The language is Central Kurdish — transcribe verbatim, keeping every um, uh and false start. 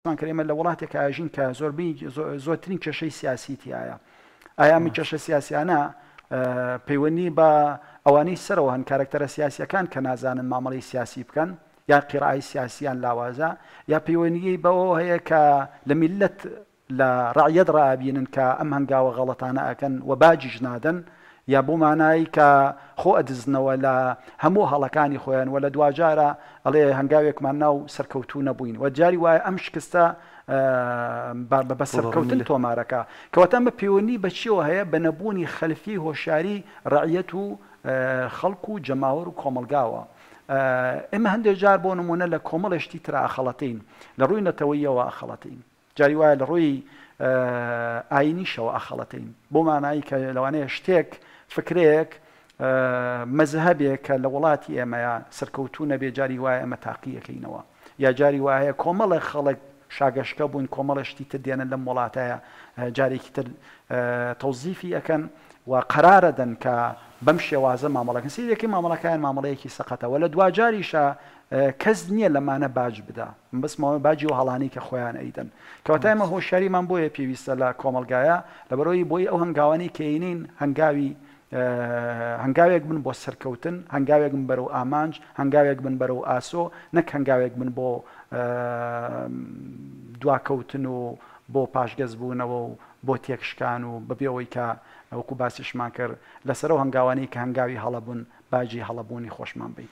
کرد ئێمە لە وڵاتێک ئاژین کە زۆربەی زۆرترین کێشەی سیاسی تایە. ئایا ئەم کێشە سیاسیانە پەیوەندی بە ئەوانەی سەرەوە هەن، کارکتەرە سیاسیەکان کە نازانن مامەڵەی سیاسی بکەن یا قیرای سیاسیان لاوازە، یا پەیوەندی بەوە هەیە کە لە میلەت لە ڕعیەت ڕابینن کە ئەم هەنگاوە غەڵەتانە ئەکەن و باجیش نادەن، یا بۆ مانایی کە خۆ ئەدزنەوە لە هەموو هەڵەکانی خۆیان و لە دواجارە ئەڵێ هەنگاوێکمان ناو سەرکەوتوو نەبووین و جاری وایە ئەم شکستە بە سەرکەوتن تۆمارەکە. کەواتە ئەمە پەیوەندی بە چیەوە هەیە؟ بە نەبوونی خەلفی هۆشیاری ڕعیەت و خەڵک و جەماوەر و کۆمەلگاوە. ئێمە هەندێک جار بۆ نمونە لە کۆمەڵێشتی ترا ئەخەڵەتین، لە ڕووی نەتەوەیەوە ئەخەڵەتین، جاری وایە لە ڕووی ئاینیشەوە ئەخەڵەتین، بۆ مانایی کە لەوانەیە شتێک فکرەیەک مەزهەبێک کە لە وڵاتی ئێمەیە سەرکەوتوو نەبێ جاری وایە ئێمە تاقیەکەینەوە، یا جاری وایە کۆمەڵێک خەڵک شاگەشکە بوون کۆمەڵە شتی تر دێنن لەم وڵاتەیە جارێکی تر تەوزیفی ئەەکەن و قەرارەدەن کە بەم شێوازە مامەڵەکەن. سیرێکی مامەڵەکان مامەڵەیەکی سەقەتەوە لە دواجاریشە کەس نییە لەمانە باج بدا، بەس ماوە باجی و هەڵانی کە خۆیان ئەیدەن. کەواتە ئێمە هۆشیاریمان بۆیە پێویستە لە کۆمەلگایە، لەبەرەوەی بۆی ئەو هەنگاوانی کەینین هەنگاوی هەنگاوێک بن بۆ سەرکەوتن، هەنگاوێک بن بەرەو ئامانج، هەنگاوێک بن بەرەو ئاسۆ، نەک هەنگاوێک بن بۆ دواکەوتن و بۆ پاشگەزبوونەوە و بۆ تێکشکان و بەبێ ئەوەی کە وەکو باسیشمان کرد لەسەر ئەو هەنگاوانەی کە هەنگاوی هەڵەبوون باجی هەڵەبوونی خۆشمان بین.